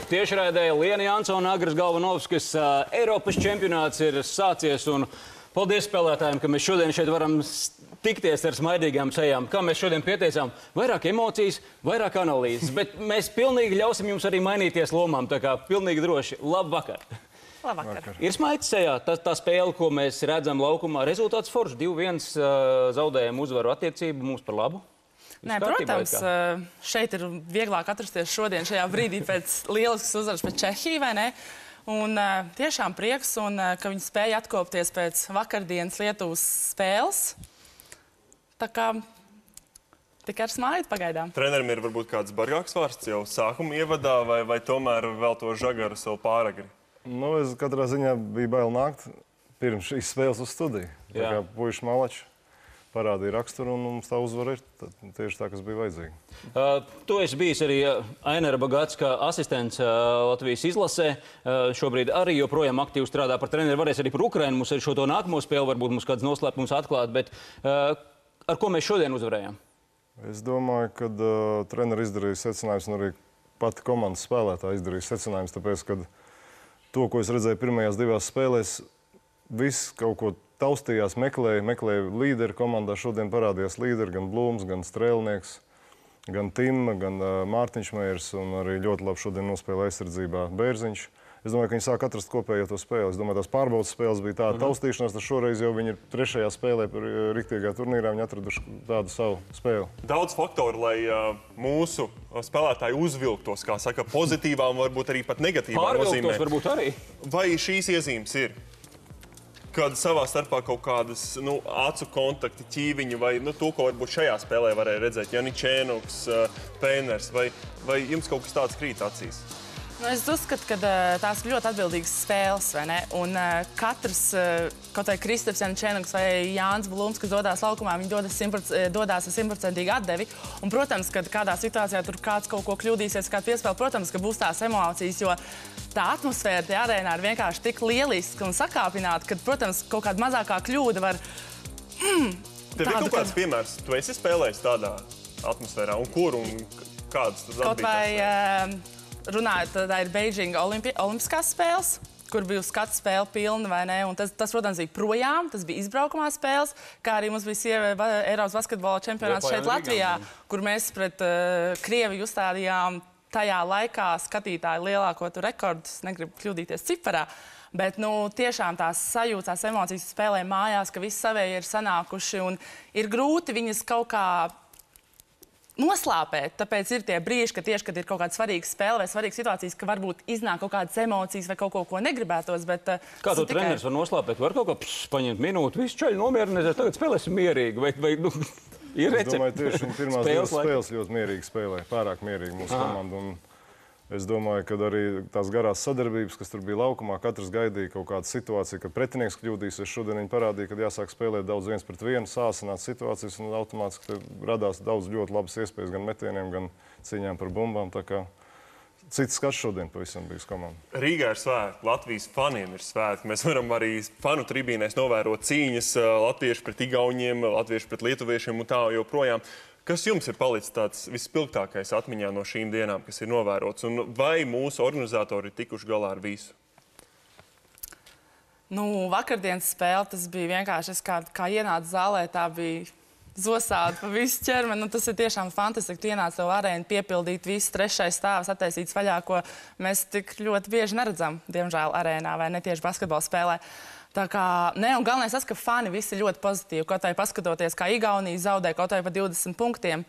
mūsu tiešraidē. Liena Jansona, Agris Galvanovskis. Eiropas čempionāts ir sācies un paldies spēlētājiem, ka mēs šodien šeit varam tikties ar smaidīgām sejām. Kā mēs šodien pieteicām, vairāk emocijas, vairāk analīzes, bet mēs pilnīgi ļausim jums arī mainīties lomām, tā kā pilnīgi droši. Labvakar! Labvakar. Ir smaids sejā, tā spēle, ko mēs redzam laukumā, rezultāts foršs, 2-1 zaudējam uzvaru attiecību mums par labu. Nē, protams, šeit ir vieglāk atrasties šodien šajā brīdī pēc lieliskas uzvaras pret Čehiju, vai ne? Un tiešām prieks, ka viņi spēja atkopties pēc vakardienas Lietuvas spēles. Tā kā tikai ar smaidu pagaidām. Trenerim ir varbūt kāds bargāks vārsts jau sākuma ievadā, vai tomēr vēl to žagaru sev pāragri? Nu, es katrā ziņā biju bail nākt pirms šīs spēles uz studiju. Tā kā puiši malači parādīja raksturu un mums tā uzvara ir tieši tā, kas bija vajadzīga. Tu esi bijis arī Ainara Bagātska asistents Latvijas izlasē. Šobrīd arī joprojām aktīvi strādā par treneri. Varēs arī par Ukrainu mums ar šo to nākamo spēli, varbūt mums kāds noslēpums atklāt, bet ar ko mēs šodien uzvarējām? Es domāju, ka treneri izdarīja secinājums un arī pati komandas spēlētāji izdarīja secinājums, tāpēc, ka to, ko es redzēju pirmajās divās spēlēs, viss kaut ko taustījās, meklēja līderi komandā. Šodien parādījās līderi, gan Blūms, gan Strēlnieks, gan Timma, gan Mārtiņš Meirs, un arī ļoti labi šodien nospēlēja aizsardzībā Bērziņš. Es domāju, ka viņi sāk atrast kopējo to spēli. Es domāju, tās pārbaudas spēles bija tāda taustīšanās, tad šoreiz jau viņi ir trešajā spēlē riktīgā turnīrā, viņi atraduši tādu savu spēli. Daudz faktoru, lai mūsu spēlētāji uzvilktos, kā saka, pozitīvām, varbūt arī pat negatīvām nozīmē. Pārvilktos varbūt arī. Vai šīs iezīmes ir? Kad savā starpā kaut kādas acu kontakti, ķīviņi vai to, ko varbūt šajā spēlē varēja redzēt, Janičēnuks, Pēners, vai jums kaut kas tāds krīt acīs? Es uzskatu, ka tās ir ļoti atbildīgas spēles, vai ne? Un katrs, kaut vai Kristaps Janičēnuks vai Jānis Blūms, kas dodās laukumā, viņi dodās ar 100% atdevi. Un, protams, kad kādā situācijā tur kāds kaut ko kļūdīsies, kāda piespēle, protams, ka būs tās emocijas, jo tā atmosfēra tajā arēnā ir vienkārši tik lieliska un sakāpināta, ka, protams, kaut kāda mazākā kļūda var... Tev ir kaut kāds piemērs? Tu esi spēlējis tādā atmosfērā? Un kur un kādas tad atbītās? Runājot, tā ir Beidžinga olimpiskās spēles, kur bija skatu spēle pilna, vai ne? Un tas, protams, bija projām, tas bija izbraukumā spēles, kā arī mums bija Eiropas basketbola čempionāts šeit Latvijā, kur mēs pret Krieviju uzstādījām tajā laikā skatītāju lielāko rekordu, es negribu kļūdīties ciparā, bet, tiešām tās sajūtas, tās emocijas spēlē mājās, ka visi savēji ir sanākuši un ir grūti viņas kaut kā noslāpēt, tāpēc ir tie brīži, kad ir kaut kāda svarīga spēle vai svarīga situācijas, ka varbūt iznāk kaut kādas emocijas vai kaut ko negribētos, bet... Kā to treneris var noslāpēt? Var kaut kā paņemt minūti, visu čaļi nomierinies, tagad spēlēsim mierīgi, vai ir recepti? Es domāju, tieši viņa pirmās divas spēles ļoti mierīgi spēlē, pārāk mierīgi mūsu komandu. Un es domāju, ka arī tās garās sadarbības, kas tur bija laukumā, katrs gaidīja kaut kādu situāciju, kad pretinieks kļūdīsies. Šodien viņi parādīja, ka jāsāk spēlēt daudz 1-1, sāsināt situācijas, un automātiski radās daudz ļoti labas iespējas gan metieniem, gan cīņām par bumbām. Tā kā cits skats šodien pavisam bija uz komandu. Rīgā ir svētki, Latvijas faniem ir svētki. Mēs varam arī fanu tribīnēs novērot cīņas, latvieši pret igauņiem, latvieši pret lietuviešiem un tā joprojām. Kas jums ir palicis tāds vispilgtākais atmiņā no šīm dienām, kas ir novērots? Un vai mūsu organizatori ir tikuši galā ar visu? Vakardienas spēle, tas bija vienkārši, kā ienāca zālē, tā bija zosāda pa visu ķermeni. Tas ir tiešām fantastiski. Tu ienāc tev arēnu, piepildīt visu trešais stāvs, attaisīts vaļā, ko mēs tik ļoti bieži neredzam, diemžēl, arēnā vai ne tieši basketbola spēlē. Tā kā, un galvenais tas, ka fani visi ļoti pozitīvi, kaut vai paskatoties, kā Igaunija zaudē kaut vai pa 20 punktiem,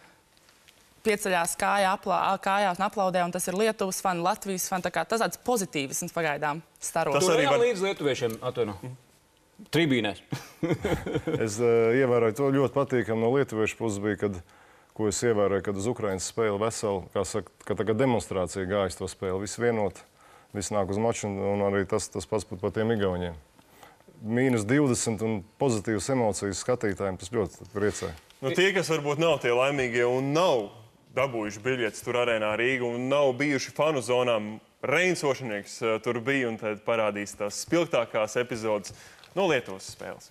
pieceļās kājās un aplaudē, un tas ir Lietuvas fani, Latvijas fani, tā kā tas tāds pozitīvisms pagaidām staro. Tu arī līdz lietuviešiem atvaino tribīnēs. Es ievēroju to ļoti patīkam no lietuviešu puses bija, ko es ievēroju, kad uz Ukrainas spēli veseli, kā saka, ka tagad demonstrācija gājas to spēli, visi vienot, visi nāk uz maču, un arī tas pats par tiem igauņiem. -20 un pozitīvas emocijas skatītājiem, tas ļoti priecē. Tie, kas varbūt nav tie laimīgie un nav dabūjuši biļetes tur arēnā Rīga un nav bijuši fanu zonām, Reins Ošanieks tur bija un tad parādīs tās spilgtākās epizodes no Lietuvas spēles.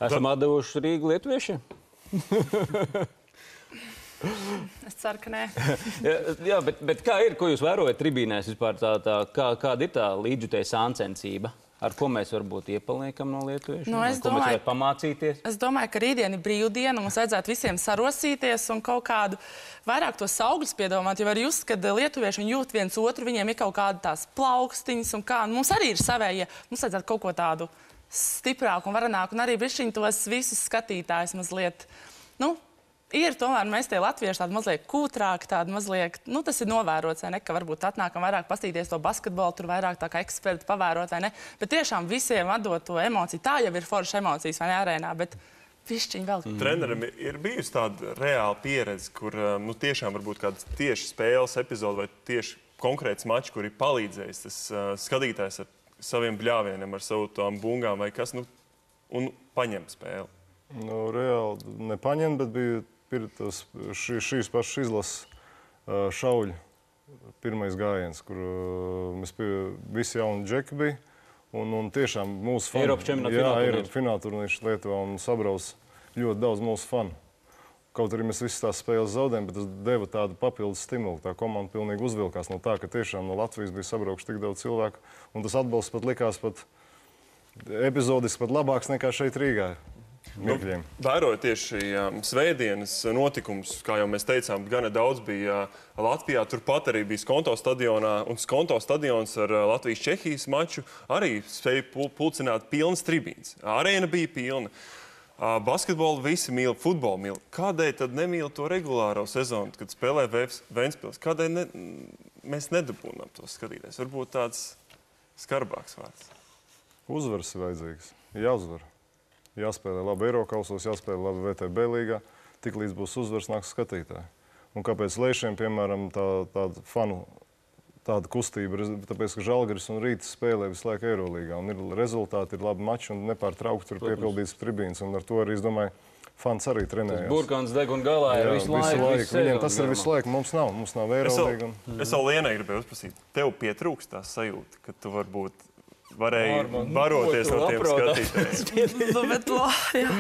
Esam atdevuši Rīgu lietuviešiem? Es ceru, ka nē. Jā, bet kā ir, ko jūs vērojat tribīnēs vispār kāda ir tā līdzjutēja sāncensība? Ar ko mēs varbūt iepaliekam no lietuviešiem? Nu, ko mēs varētu pamācīties? Es domāju, ka rītdien ir brīvdiena, mums vajadzētu visiem sarosīties un kaut kādu vairāk tos augļus piedomāt, jo var just, kad lietuvieši jūt viens otru, viņiem ir kaut kāda tās plaukstiņas un kā. Mums arī ir savējie, mums vajadzētu kaut ko tādu stiprāku un varenāku un arī bišķiņ tos visus skatītājus mazliet, ir tomēr mēs tie latvieši tādi mazliet kūtrāki, tādi mazliet, tas ir novērots, vai ne, ka varbūt atnākam vairāk pastīties to basketbolu, tur vairāk tā kā eksperti pavērot, vai ne, bet tiešām visiem atdot to emociju. Tā jau ir forša emocijas, vai ne, arēnā, bet pišķiņ vēl. Trenerim ir bijusi tāda reāla pieredze, kur tiešām varbūt kāda tieši spēles epizode vai tieši konkrēts mačs, kur ir palīdzējis tas skatītājs ar saviem bļāvieniem, ar savu tām bungām vai kas, un paņem spēli. Reāli nepaņem, bet bija šīs pašas izlases šauļu pirmais gājiens, kur mēs visi jauni džeki bija. Un tiešām mūsu fani. Eiropas čempionāta finālturnīrs Lietuvā un sabrauc ļoti daudz mūsu fanu. Kaut arī mēs visas tās spēles zaudējām, bet tas deva tādu papildus stimulu. Tā komanda pilnīgi uzvilkās no tā, ka tiešām no Latvijas bija sabraukuši tik daudz cilvēku. Un tas atbalsts pat likās epizodiski pat labāks nekā šeit Rīgā. Vērojot tieši svētdienas notikums, kā jau mēs teicām, gana daudz bija Latvijā. Turpat arī bija Skonto stadionā, un Skonto stadions ar Latvijas-Čehijas maču arī spēja pulcināt pilnas tribīnes. Arēna bija pilna. Basketbolu visi mīl, futbolu mīl. Kādēļ tad nemīl to regulāro sezonu, kad spēlē Ventspils? Kādēļ mēs nedabūnām to skatīties? Varbūt tāds skarbāks vārds. Uzvaras ir vajadzīgs. Jāuzvar. Jāspēlē labi Eirokausos, jāspēlē labi VTB līgā, tik līdz būs uzvaras nāks skatītāji. Un kāpēc Leišiem, piemēram, tāda fanu, tāda kustība, tāpēc, ka Žalgiris un Rītas spēlē visu laiku Eirolīgā, un ir rezultāti, ir labi mači, un nepārtraukti tur piepildīts tribīns, un ar to arī, es domāju, fans arī trenējās. Burkāns deg un galā ir visu laiku. Viņiem tas ir visu laiku, mums nav Eirolīga. Es vēl Lienai gribēju uzprasīt, tev pietrūkst tā sajūta, ka tu varbūt varēja baroties no tiem skatītājiem.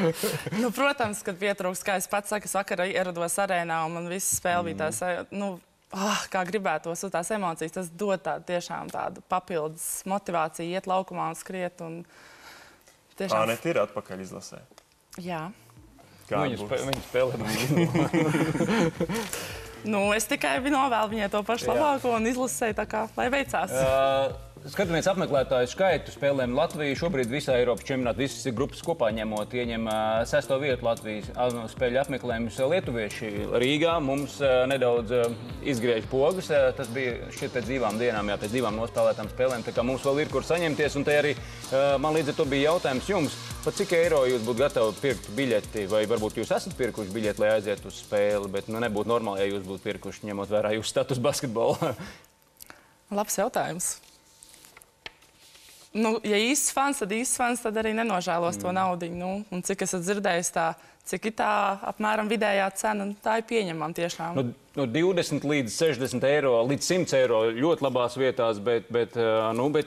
Protams, kad pietrūkst, kā es pats saku, es vakar ierados arēnā un man viss spēle bija tās, kā gribētos, tās emocijas, tas dod tiešām tādu papildus motivāciju, iet laukumā un skriet. Ānete ir atpakaļ izlasē. Jā. Viņa spēlē. Es tikai novēlu viņai to pašu labāko un izlasēju tā kā, lai veicās. Skatāmies apmeklētāju skaitu spēlēm Latviju. Šobrīd visā Eiropas čempionātā visas grupas kopā ņemot ieņem 6. vietu Latvijas spēļu apmeklējumus. Lietuvieši Rīgā mums nedaudz izgriež pogas. Tas bija šķiet pēc 2 dienām, pēc 2 nospēlētām spēlēm. Tā kā mums vēl ir kur saņemties. Un te arī man līdz ar to bija jautājums jums, par cik eiro jūs būtu gatavi pirkt biļeti, vai varbūt jūs esat pirkuši biļeti, lai aizietu uz spēli, bet nebūtu normāli, ja jūs būtu pirkuši, ņemot vērā jūsu status basketbolā. Labs jautājums. Ja īsts fans, tad arī nenožēlos to naudiņu. Un cik esat dzirdējis cik ir tā apmēram vidējā cena, tā ir pieņemama tiešām. No 20 līdz 60 eiro, līdz 100 eiro ļoti labās vietās, bet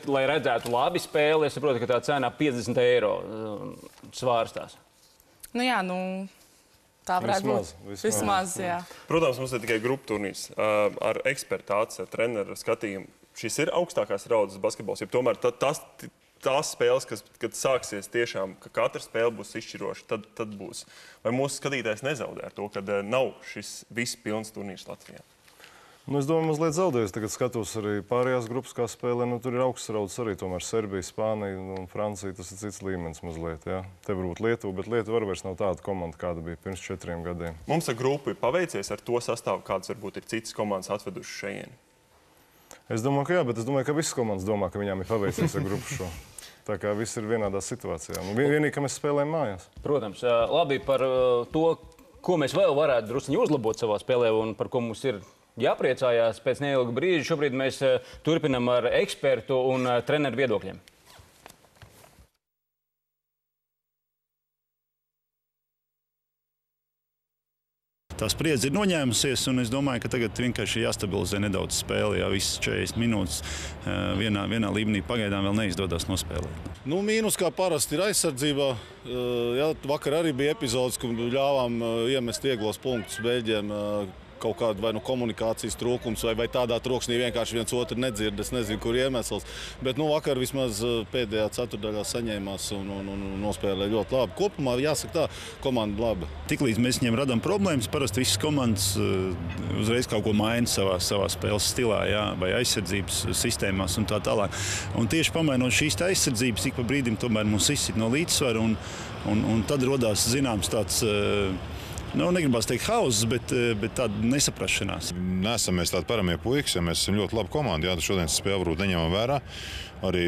lai redzētu labi spēli, es saprotu, ka tā cena 50 eiro svārstās. Tā varētu būt. Vismaz, jā. Protams, mums ir tikai grupu turnīrs ar ekspertāts, ar treneru skatījumu. Šis ir augstākās raudzes basketbols, jo tomēr tās spēles, kad sāksies tiešām, ka katra spēle būs izšķiroša, tad būs. Vai mūsu skatītājs nezaudē ar to, ka nav šis viss pilns turnīrs Latvijā? Es domāju, mazliet zaudējis. Tagad skatos arī pārējās grupas, kā spēlē. Tur ir augsts raudzes arī, tomēr Serbija, Spānija un Francija. Tas ir cits līmenis mazliet, jā. Te varbūt Lietuva, bet Lietuva arī vairs nav tāda komanda, kāda bija pirms 4 gadiem. Mums ar grupu ir paveicies ar to sastāvu, kāds varbūt ir citas komandas atvedušas šejieni. Es domāju, ka jā, bet es domāju, ka visas komandas domā, ka viņām ir paveicies ar grupu šo. Tā kā viss ir vienādā situācijā. Vienīgi, ka mēs spēlējam mājās. Protams, labi par to, ko mēs vēl varētu drusciņi uzlabot savā spēlē un par ko mums ir jāpriecājās pēc neilga brīža. Šobrīd mēs turpinam ar ekspertu un treneru viedokļiem. Tā spriedze ir noņēmusies, un es domāju, ka tagad vienkārši jāstabilizē nedaudz spēle. Jā, visas 40 minūtes vienā līmenī pagaidām vēl neizdodas nospēlēt. Nu, mīnus kā parasti ir aizsardzībā. Jā, vakar arī bija epizodes, kur ļāvām iemest vieglos punktus Beļģiem. Kaut kāda vai nu komunikācijas trūkums, vai tādā troksnī vienkārši viens otru nedzird. Es nezinu, kur iemesls. Bet vakar vismaz pēdējā ceturdaļā saņēmās un nospēlēja ļoti labi. Kopumā jāsaka tā, komanda laba. Tiklīdz mēs viņiem radām problēmas, parasti visas komandas uzreiz kaut ko maina savā spēles stilā, jā, vai aizsardzības sistēmās un tā tālāk. Un tieši pamainot šīs aizsardzības, ik pa brīdim tomēr mums izsit no līdzsvaru, un tad rodās zināms tāds... negribās teikt hauss, bet tāda nesaprašanās. Nesam mēs tādi paramie puikas, ja mēs esam ļoti labi komandi. Jā, šodienas spēle varbūt neņemam vērā. Arī,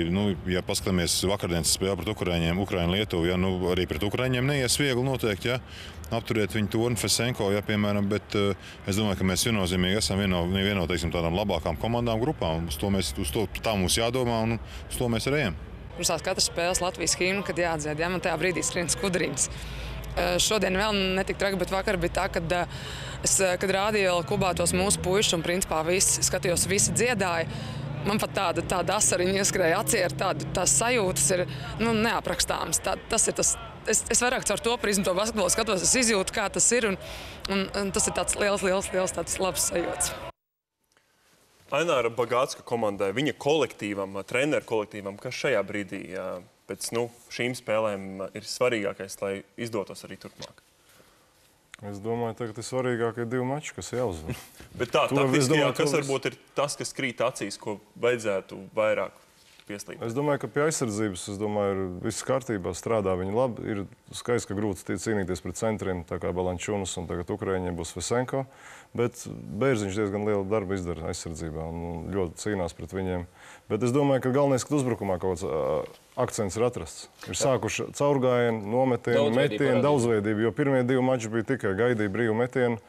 ja paskatāmies vakardienas spēli pret Ukraiņiem, Ukraiņu-Lietuvu, arī pret Ukraiņiem neies viegli noteikti, apturēt viņu Tornu Fesenko, piemēram, bet es domāju, ka mēs viennozīmīgi esam viena no tādām labākām komandām grupām. Tā mums jādomā un uz to mēs arī ejam. Mums tās katras spēles Latvijas himnu, kad jāatdzied, man tajā brīdī skrien skudrītes. Šodien vēl netika traki, bet vakar bija tā, kad rādīja Kubā tos mūsu puišus un principā skatījos, visi dziedāja. Man pat tāda asariņa ieskrēja acī, tās sajūtas ir neaprakstāmas. Es vairāk caur to prizmu to basketbolu skatos, es izjūtu, kā tas ir, un tas ir tāds liels tāds labs sajūts. Aināra Bagātska komandai, viņa kolektīvam, treneru kolektīvam, kas šajā brīdī pēc šīm spēlēm ir svarīgākais, lai izdotos arī turpmāk? Es domāju, tagad ir svarīgākie 2 mači, kas jāuzvar. Bet tā, taktiski, kas varbūt ir tas, kas krīt acīs, ko vajadzētu vairāk pieslīgt? Es domāju, ka pie aizsardzības, ir viss kārtībā, strādā viņi labi. Ir skaisti, ka grūti cīnīties pret centriem, tā kā Balančunas un tagad Ukraiņiem būs Fesenko. Bet Bērziņš diezgan lielu darbu izdara aizsardzībā un ļoti cīnās pret viņiem. Bet es domāju, ka galvenais, ka uzbrukumā kaut kāds akcents ir atrasts. Ir sākuši caurgājieni, nometieni, metieni, daudzveidību, jo pirmie 2 mači bija tikai gaidīja brīvu metienu,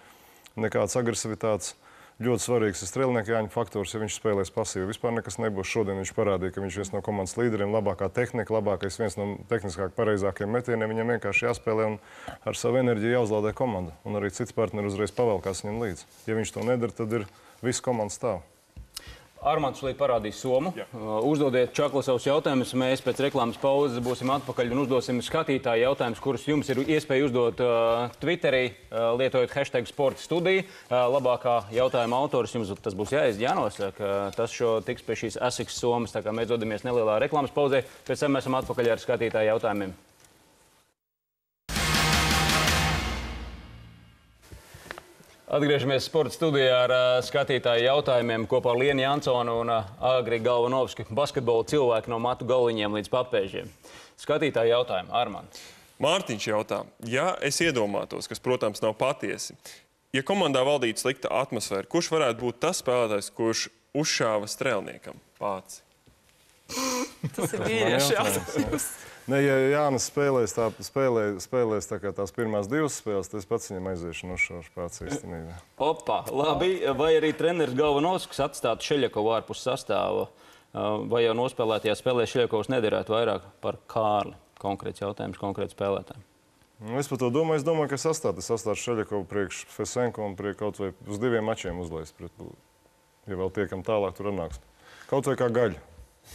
nekāds agresivitātes. Ļoti svarīgs ir strēlnieka Jāņa faktors, ja viņš spēlēs pasīvi. Vispār nekas nebūs. Šodien viņš parādīja, ka viņš ir viens no komandas līderiem, labākā tehnika, viens no tehniskāk pareizākajiem metieniem. Viņam vienkārši jāspēlē un ar savu enerģiju jāuzlādē komanda. Un arī cits partneri uzreiz pavelkās viņam līdzi. Ja viņš to nedara, tad ir viss komandas stāv. Armands šodien parādīs somu. Uzdodiet Čakla savus jautājumus. Mēs pēc reklāmas pauzes būsim atpakaļ un uzdosim skatītāju jautājumus, kurus jums ir iespēja uzdot Twitterī, lietojot hashtag sporta studiju. Labākā jautājuma autors jums tas būs jānosaka. Tas tiks pie šīs asiks somas, tā kā mēs dodamies nelielā reklāmas pauzē. Pēc tam mēs esam atpakaļ ar skatītāju jautājumiem. Atgriežamies sporta studijā ar skatītāju jautājumiem kopā ar Lienu Jansonu un Agri Galvanovski, basketbola cilvēku no matu galiņiem līdz papēžiem. Skatītāju jautājumu, Armands. Mārtiņš jautā, ja es iedomātos, kas, protams, nav patiesi, ja komandā valdītu slikta atmosfēra, kurš varētu būt tas spēlētājs, kurš uzšāva strēlniekam pāci? Tas ir vīriešu jautājums. Ne, ja Jānis spēlēs tā kā tās pirmās 2 spēles, tad es pats viņam aiziešu nošaušu pāci īstenībā. Opa, labi. Vai arī treneris Galvanovskis atstātu Šeļakovu ārpus sastāva? Vai jau nospēlētajā spēlē Šeļakovs nederētu vairāk par Kārli? Konkrēts jautājums, konkrēts spēlētājiem. Es par to domāju. Es domāju, ka sastātu Šeļakovu priekš Fesenko un priekš kaut vai uz 2 mačiem uzlaist. Ja vēl tiekam tālāk, tur atnāks. Kaut vai kā gaļa.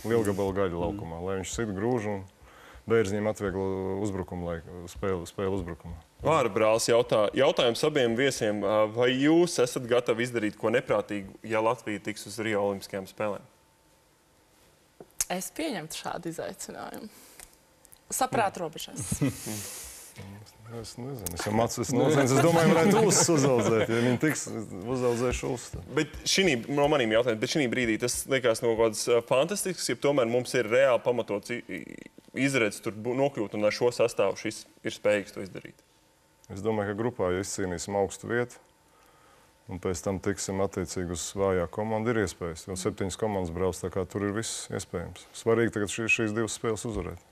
Lielgabala gaļa laukumā, lai viņš sit grūž un Bērziņiem atvieglo uzbrukumu laiku, spēli uzbrukumā. Vāra brālis jautājums abiem viesiem. Vai jūs esat gatavi izdarīt ko neprātīgu, ja Latvija tiks uz Rio Olimpiskajām spēlēm? Es pieņemtu šādu izaicinājumu. Saprāt robežās. Es nezinu. Es domāju, varētu uzaudzēt, ja viņi tiks uzaudzējuši uzstu. Bet no manīm jautājumiem, bet šī brīdī tas liekas no kādas fantastisks, ja tomēr mums ir reāli pamatots izredz tur nokļūt un ar šo sastāvu šis ir spējīgs to izdarīt? Es domāju, ka grupā, ja izcīnīsim augstu vietu un pēc tam tiksim attiecīgi uz vājā komanda, ir iespējas. Jo 7 komandas brauc, tā kā tur ir viss iespējams. Svarīgi tagad šīs 2 spēles uzvarēt.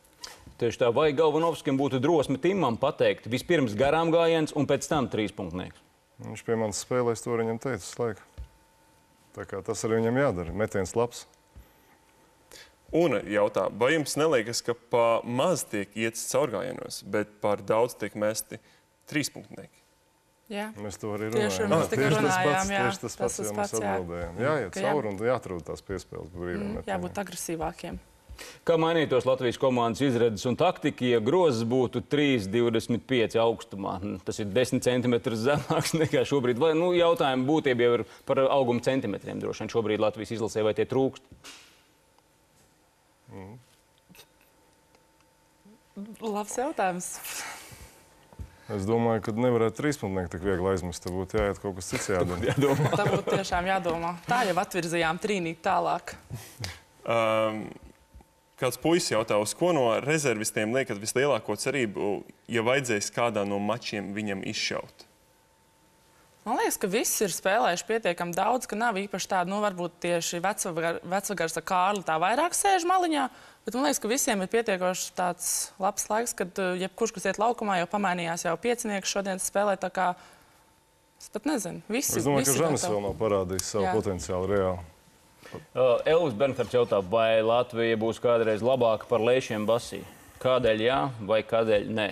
Tieši tā, vai Galvanovskim būtu drosme Timam pateikt vispirms garām gājiens un pēc tam 3-punktnieks? Viņš pie manis spēlēs, to viņam teica slēga. Tā kā tas arī viņam jādara. Metiens labs. Un jautā, vai jums neliekas, ka pa maz tiek ietis caurgājienos, bet par daudz tiek mesti 3-punktnieki? Jā. Mēs to arī Tieši runājam. mēs tikko runājām, jā. Tieši tas pats, jau mēs atbildējām. Jāiet cauri un jāatrod tās piespēles brīviem metamiem. Jābūt agresīvākiem. Kā mainītos Latvijas komandas izredzes un taktika, ja grozs būtu 3,25 augstumā? Tas ir 10 centimetrus zemāks nekā šobrīd. Vai, jautājumi būtība jau ir par auguma centimetriem droši vien šobrīd Latvijas izlasē, vai tie trūkst? Labs jautājums. Es domāju, ka nevarētu trīspunktnieku tik viegli aizmest. Tad būtu jāiet kaut kas cits jādara. Tā būtu tiešām jādomā. Tā jau atvirzījām trīnīt tālāk. Kāds puisis jautā, uz ko no rezervistiem liekat vislielāko cerību, ja vajadzēs kādā no mačiem viņam izšaut? Man liekas, ka visi ir spēlējuši pietiekami daudz, ka nav īpaši tāda, varbūt tieši vecvagars ar Kārli tā vairāk sēž maliņā, bet man liekas, ka visiem ir pietiekoši tāds labs laiks, kad jebkurš, kas iet laukumā, jau pamainījās jau piecinieks šodien spēlē, tā kā es pat nezinu, visi. Es domāju, ka Žanis vēl nav parādījis savu potenciālu reāli. Elvis Bernhards jautā, vai Latvija būs kādreiz labāka par Leišiem Basī? Kādēļ jā vai kādēļ nē?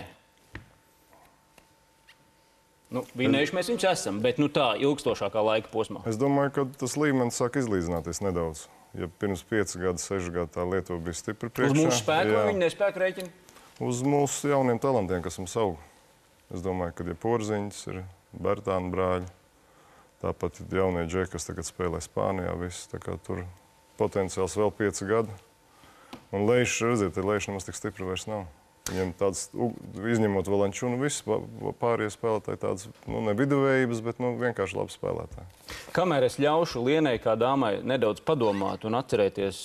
Vinējuši mēs viņus esam, bet tā ilgstošākā laika posmā. Es domāju, ka tas līmenis sāk izlīdzināties nedaudz. Ja pirms 5 gadu, 6 gadu tā Lietuva bija stipri priekšā. Uz mūsu spēku vai viņa nespēku rēķina? Uz mūsu jauniem talantiem, kas mums aug. Es domāju, ka Porziņš ir Bertāna brāļi. Tāpat jaunie džeki, kas tagad spēlē Spānijā, viss. Tā kā tur potenciāls vēl 5 gadi. Un Leišs, redziet, Leišs nemaz tik stipri vairs nav. Viņam tāds, izņemot Valančunu, viss pārējie spēlētāji tāds, ne viduvējības, bet vienkārši labi spēlētāji. Kamēr es ļaušu Lienai kā dāmai nedaudz padomāt un atcerēties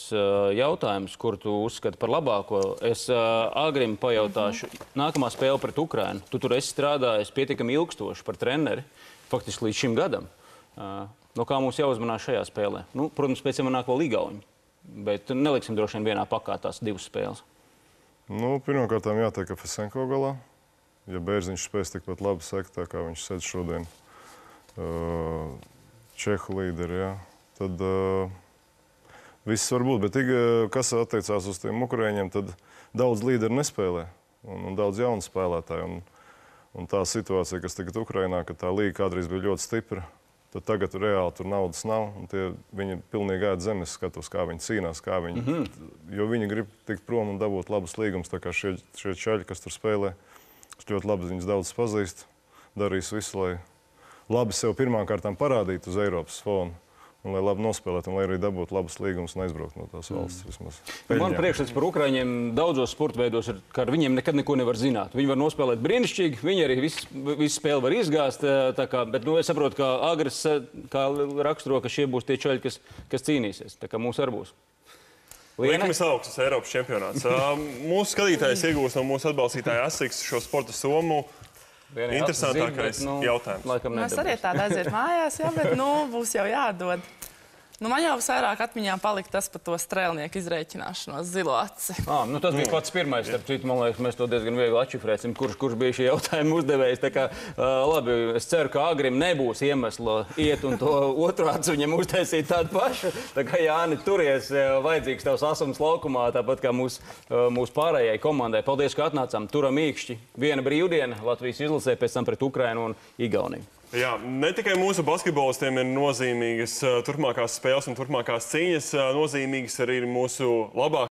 jautājumus, kur tu uzskati par labāko, es Agrim pajautāšu nākamā spēle pret Ukrainu. Tu tur esi strādājis pietiekami ilgstoši par treneri, faktiski līdz šim gadam. No kā mums jāuzmanās šajā spēlē? Protams, pēc tam nāk vēl Igauņi, bet neliksim droši vien vienā pakā tās divas spēles. Pirmkārt, jātiek Fesenko galā. Ja Bērziņš spēs tikpat labi sekt, tā kā viņš sēdz šodien Čehu līderi, tad viss var būt. Bet, kas attiecās uz tiem ukrāņiem, tad daudz līderi nespēlē un daudz jaunu spēlētāju. Un tā situācija, kas tagad Ukrainā, ka tā līga kādreiz bija ļoti stipra, tad tagad reāli tur naudas nav. Viņi pilnīgi ēd zemes skatos, kā viņi cīnās, jo viņi grib tikt prom un dabūt labus līgumus. Tā kā šie čaļi, kas tur spēlē, ļoti labi viņus daudz pazīst, darīs visu, lai labi sev pirmām kārtām parādītu uz Eiropas fonu. Un lai labi nospēlētu, un lai arī dabūtu labus līgumus un aizbraukt no tās valsts vismaz. Man priekšstats par Ukraiņiem daudzos sporta veidos ir, ka ar viņiem nekad neko nevar zināt. Viņi var nospēlēt brīnišķīgi, viņi arī visu spēli var izgāzt. Bet es saprotu, ka Agris raksturo, ka šie būs tie čaļi, kas cīnīsies. Tā kā mūs arī būs. Liekamies augstas Eiropas čempionāts. Mūsu skatītājs iegūs no mūsu atbalstītāja Asiks šo sporta somu. Interesantākais jautājums. Mēs arī tāda aiziet mājās, bet būs jau jādod. Man jau vairāk atmiņā palika tas par to strēlnieku izrēķināšanos zilo aci. Tas bija pats pirmais. Starp citu, man liekas, mēs to diezgan viegli atšifrēsim, kurš bija šī jautājuma uzdevējs. Tā kā, labi, es ceru, ka Agrim nebūs iemesla iet un to otru acu viņam uztaisīt tādu pašu. Tā kā, Jāni, turies, vajadzīgs tavs asums laukumā, tāpat kā mūsu pārējai komandai. Paldies, ka atnācām. Turam īkšķi. Viena brīvdiena Latvijas izlasē, pēc tam pret Ukrainu un Igauniju. Jā, ne tikai mūsu basketbolistiem ir nozīmīgas turpmākās spēles un turpmākās cīņas, nozīmīgas arī ir mūsu labākās